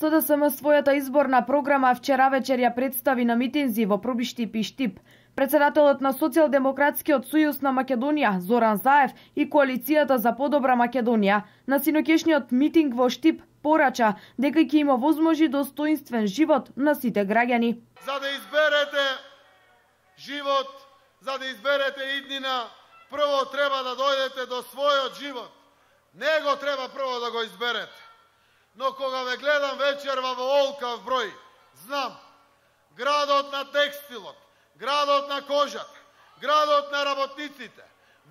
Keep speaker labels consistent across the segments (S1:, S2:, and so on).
S1: СДСМ својата изборна програма вчера вечер ја представи на митинзи во Пробиштип и Штип. Председателот на Социјалдемократскиот сојуз на Македонија, Зоран Заев, и Коалицијата за подобра Македонија на синокешниот митинг во Штип порача дека ќе има возможи достоинствен живот на сите граѓани.
S2: За да изберете живот, за да изберете иднина, прво треба да дојдете до својот живот. Него треба прво да го изберете. Но кога ве гледам вечерва во олкав број, знам, градот на текстилот, градот на кожата, градот на работниците,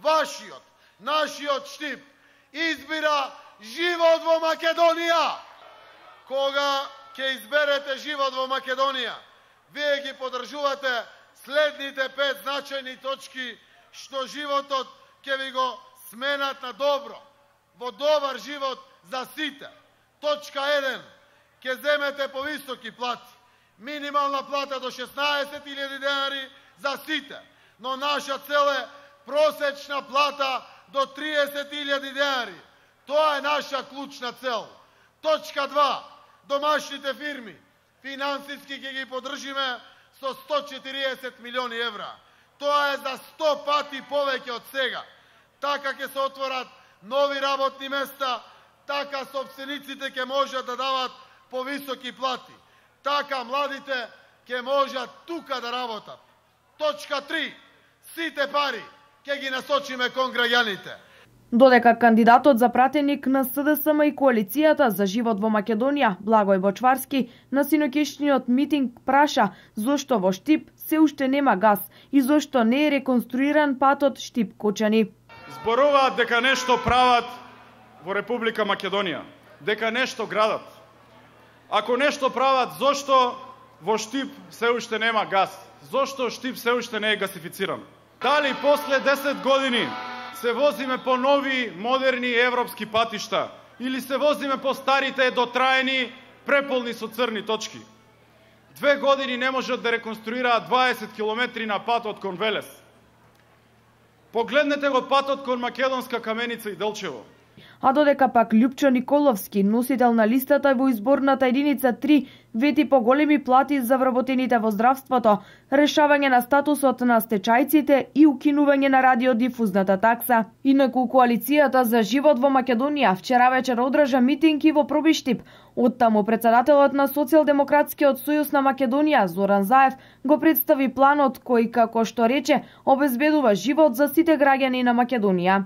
S2: вашиот, нашиот Штип, избира живот во Македонија. Кога ќе изберете живот во Македонија, вие ги подржувате следните 5 значајни точки што животот ќе ви го сменат на добро, во добар живот за сите. Точка 1. Ќе земете повисоки плати. Минимална плата до 16.000 денари за сите. Но наша цел е просечна плата до 30.000 денари. Тоа е наша клучна цел. Точка 2. Домашните фирми. Финансиски ќе ги подржиме со 140 милиони евра. Тоа е за 100 пати повеќе од сега. Така ќе се отворат нови работни места, така собствениците ќе можат да дават повисоки плати. Така младите ќе можат тука да работат. Точка 3. Сите пари ќе ги насочиме кон граѓаните.
S1: Додека кандидатот за пратеник на СДСМ и Коалицијата за живот во Македонија, Благој Бочварски, на синокешниот митинг праша зошто во Штип се уште нема газ и зошто не е реконструиран патот Штип-Кочани.
S3: Зборуваат дека нешто прават во Република Македонија, дека нешто градат. Ако нешто прават, зошто во Штип се уште нема газ? Зошто Штип се уште не е гасифициран? Дали после 10 години се возиме по нови, модерни европски патишта или се возиме по старите, дотраени, преполни со црни точки? 2 години не можат да реконструираат 20 километри на патот кон Велес. Погледнете го патот кон Македонска Каменица и Делчево.
S1: А додека пак Љупчо Николовски, носител на листата во изборната единица 3, вети поголеми плати за вработените во здравството, решавање на статусот на стечајците и укинување на радиодифузната такса. Инаку Коалицијата за живот во Македонија вчера вечер одржа митинги во Пробиштип. Оттаму председателот на Социјалдемократскиот сојуз на Македонија, Зоран Заев, го представи планот кој, како што рече, обезбедува живот за сите граѓани на Македонија.